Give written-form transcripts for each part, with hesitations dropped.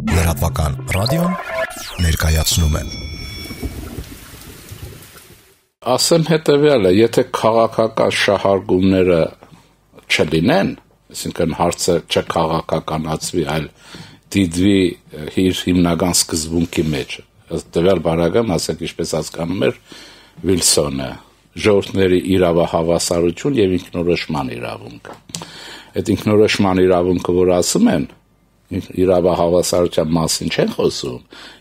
Լրատվական ռադիոն ներկայացնում է։ Ասեմ հետևյալը, եթե քաղաքական շահարկումները չլինեն, այսինքն հարցը չքաղաքականացվի, այլ դիտվի իր հիմնական սկզբունքի մեջ, տվյալ բարակամ, ասենք ինչպես հասկանում էր Վիլսոնը, ժողովուրդների իրավահավասարություն եւ ինքնորոշման իրավունք։ Այդ ինքնորոշման իրավունքը, որ ասում են, իրավահավասարության մասին չեն խոսում,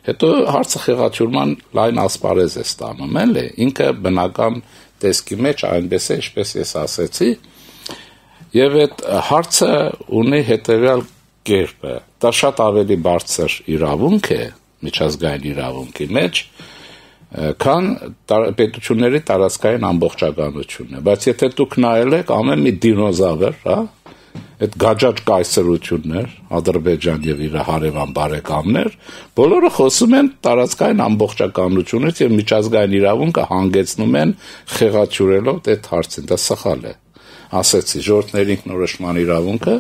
հետո հարցը խեղաթյուրման լայն ասպարեզ է ստանում, էլի, ինքը բնական տեսքի մեջ այնպես է, ինչպես ես ասեցի, եւ այդ հարցը ունի հետեւյալ կերպը, դա շատ ավելի բարձր իրավունք է միջազգային իրավունքի մեջ, քան պետությունների տարածքային ամբողջականությունն է, բայց եթե դուք նայել եք ամեն մի դինոզավր, հա, այդ գաճաճ կայսրություններ, Ադրբեջան եւ իր հարևան բարեկամներ, բոլորը խոսում են տարածքային ամբողջականությունից եւ միջազգային իրավունքը հանգեցնում են խեղաթյուրելով այդ հարցին, դա սխալ է։ Ասեցի, ժողովուրդների ինքնորոշման իրավունքը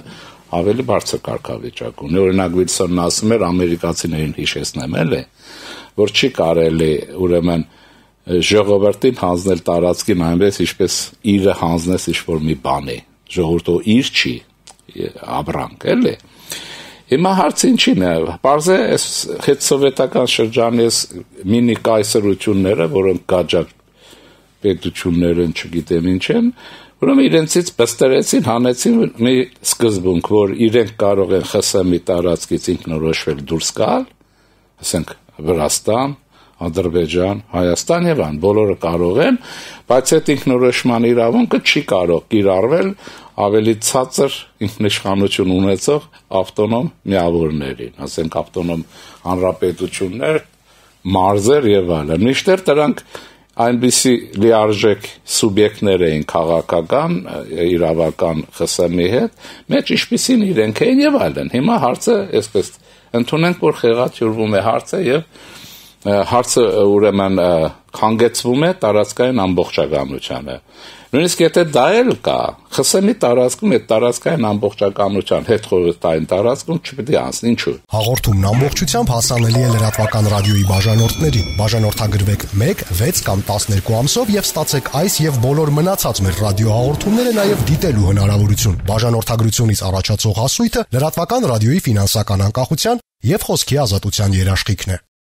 ավելի բարձր կարգավիճակ ունի։ Օրինակ Վիլսոնն ասում էր ամերիկացիներին հիշեցնեմ, էլի, որ չի կարելի ուրեմն ժողովրդին հանձնել տարածքին այնպես, ինչպես իրը հանձնես ինչ-որ մի բանի։ Ժողովուրդը իր չի, ապրանք, էլի։ Հիմա հարցը ինչին է, պարզ է, այս հետսովետական շրջանի մինի կայսրությունները, որոնք գաճաճ պետություններ են, չգիտեմ ինչ են, ուրեմն իրենցից բստերեցին, հանեցին մի սկզբունք, որ իրենք կարող են ԽՍՀՄ-ի տարածքից ինքնորոշվել դուրս գալ, ասենք Վրաստան, Ադրբեջան, Հայաստան եւ այլն, բոլորը կարող են, բայց այդ ինքնորոշման իրավունքը չի կարող կիրառվել ավելի ցածր ինքնիշխանություն ունեցող ավտոնոմ միավորներին, ասենք ավտոնոմ հանրապետություններ, մարզեր եւ այլն։ Միշտեր դրանք այնպիսի լիարժեք սուբյեկտներ էին քաղաքական, իրավական ԽՍՀՄ-ի հետ, մեջ ինչպիսին իրենք էին եւ այլն։ Հիմա հարցը այսպես ընդունենք, որ խեղաթյուրվում է հարցը եւ հարցը ուրեմն հանգեցվում է տարածքային ամբողջականությանը։ Նույնիսկ եթե դա էլ կա, ԽՍՀՄ-ի տարածքում այդ տարածքային ամբողջականության հետ խորհրդային տարածքում չպետք է անցնի, ինչու։ Հաղորդումն ամբողջությամբ հասանելի է լրատվական ռադիոյի բաժանորդներին։ Բաժանորդագրվեք 1, 6 կամ 12 ամսով եւ ստացեք այս եւ բոլոր մնացած մեր ռադիոհաղորդումները նաեւ դիտելու հնարավորություն։ Բաժանորդագրությունից առաջացող հասույթը լրատվական ռադիոյի ֆինանսական անկախության եւ խոսքի ազատության երաշխիքն է։